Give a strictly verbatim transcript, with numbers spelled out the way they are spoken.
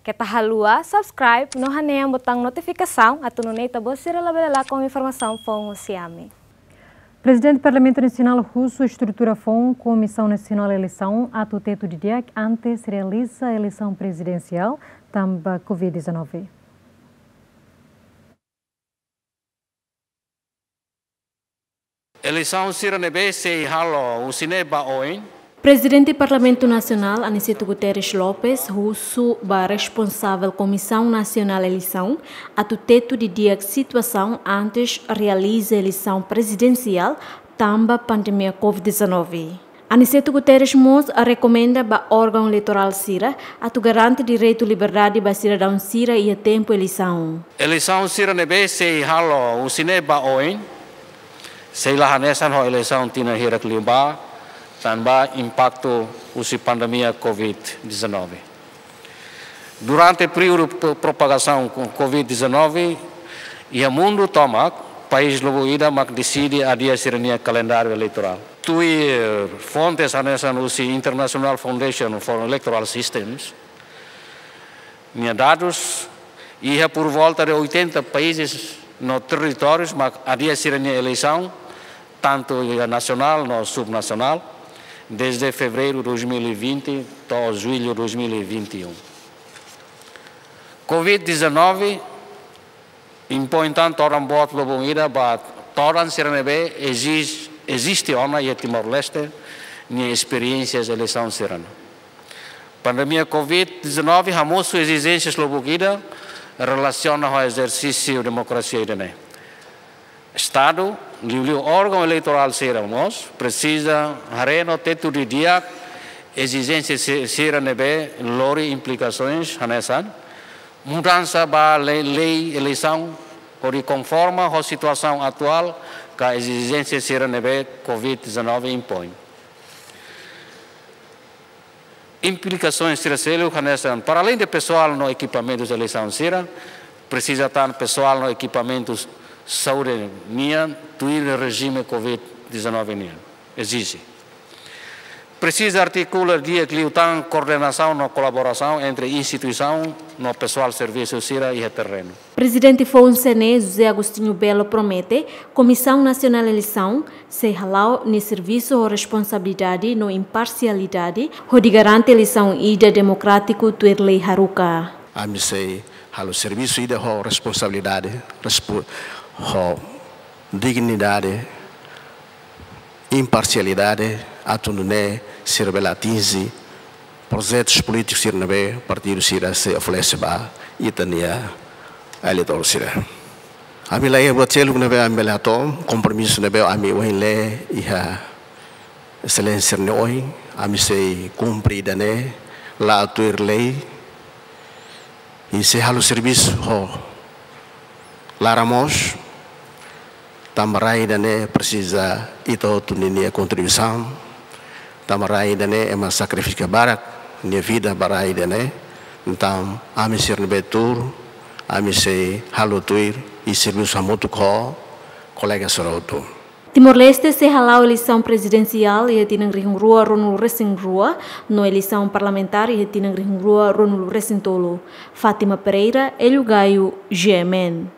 Keta haluha subscribe no hanehan botaun notifikasaun atu nune'e ita-boot sira labele lakon informasaun foun husi ami. Prezidente Parlamentu Nasionál husu estrutura foun Komisaun Nasionál Eleisaun atu tetu didi'ak antes realiza eleisaun prezidensiál tanba covid dezanove. Eleisaun sira ne'ebé sei halo husi ne'e ba oin. Prezidente Parlamentu Nasionál, Aniceto Guterres Lopes, husu ba responsavel Komisaun Nasionál Eleisaun atu tetu didi'ak situasaun antes realiza eleisaun prezidensiál tanba pandemia covid dezanove. Aniceto Guterres mós rekomenda ba órgaun eleitorál sira atu garante direitu liberdade ba sidadaun sira iha tempu eleisaun. Eleisaun sira ne'ebé sei halo husi ne'e ba oin, sei la hanesan ho eleisaun tinan hirak liubá, tanba impaktu husi pandemia covid dezanove. Durante períodu pro-, propagasaun covid dezanove, iha mundu tomak, país lubuk ida mak deside adia sira-nia kalendáriu eleitorál. Tuir, eh, fontes hanesan husi International Foundation for Electoral Systems nia dadus, iha por volta de oitenta países no territórius mak adia sira-nia eleisaun, tantu iha nasionál no subnasionál, desde fevereiru dois mil e vinte to'o jullu dois mil e vinte e um. Covid dezanove impoin tan todan boot lubun ida ba todan sira ne'ebé ezis-, eziste ona iha Timor-Leste nia esperiénsia eleisaun sira-ne'e. Pandemia covid dezanove hamosu ezijénsias lubuk ida relasiona ho ezersísiu demokrasia ida-ne'e. Estadu, liuliu órgaun eleitorál sira mós presiza haree no tetu didi'ak ezijénsia si-, sira ne'ebé lori implikasoens hanesan mudansa ba lei, lei eleisaun hodi konforma ho situasaun atuál ka ezijénsia sira ne'ebé covid dezanove impoin. Implikasoens sira seluk hanesan, para além de pesoál no ekipamentus eleisaun sira, presiza tan pesoál no ekipamentus saúde nian tuir rejime covid dezanove nian ezije. Presiza artikula di'ak liután koordenasaun no kolaborasaun entre instituisaun no pesoál servisu sira iha terrenu. Prezidente foun C N E, José Agostinho Belo, promete Komisaun Nasionál Eleisaun sei hala'o nia servisu ho responsabilidade no imparsialidade, hodi garante eleisaun ida demokrátiku tuir lei haruka. Ami sei halo servisu ida ho responsabilidade, respo-, ho dignidade, imparsialidade, atu nune'e sira bele atinje projetus polítikus sira ne'ebé partidu sira sei oferese ba ita-nia eleitór sira. Ami la iha buat seluk ne'ebé ami bele hato'o, kompromisu ne'ebé ami ohin lee iha Exelénsia nia oin, ami sei kumpre ida-ne'e, la'o tuir lei, i sei halo servisu ho laran moos, tanba rai ida-ne'e presiza ita hotu ninia kontribuisaun, tanba rai ida-ne'e ema sakrifika barak nia vida ba rai ida-ne'e. Entaun, ami sira ne'ebé tuur, ami sei halo tuir i servisu hamutuk ho kolega sira hotu. Timor-Leste sei hala'o eleisaun prezidensiál iha tinan rihun rua ruanulu resin rua, no eleisaun parlamentár iha tinan rihun rua ruanulu resin tolu. Fátima Pereira, Hélio Gaio, G M N.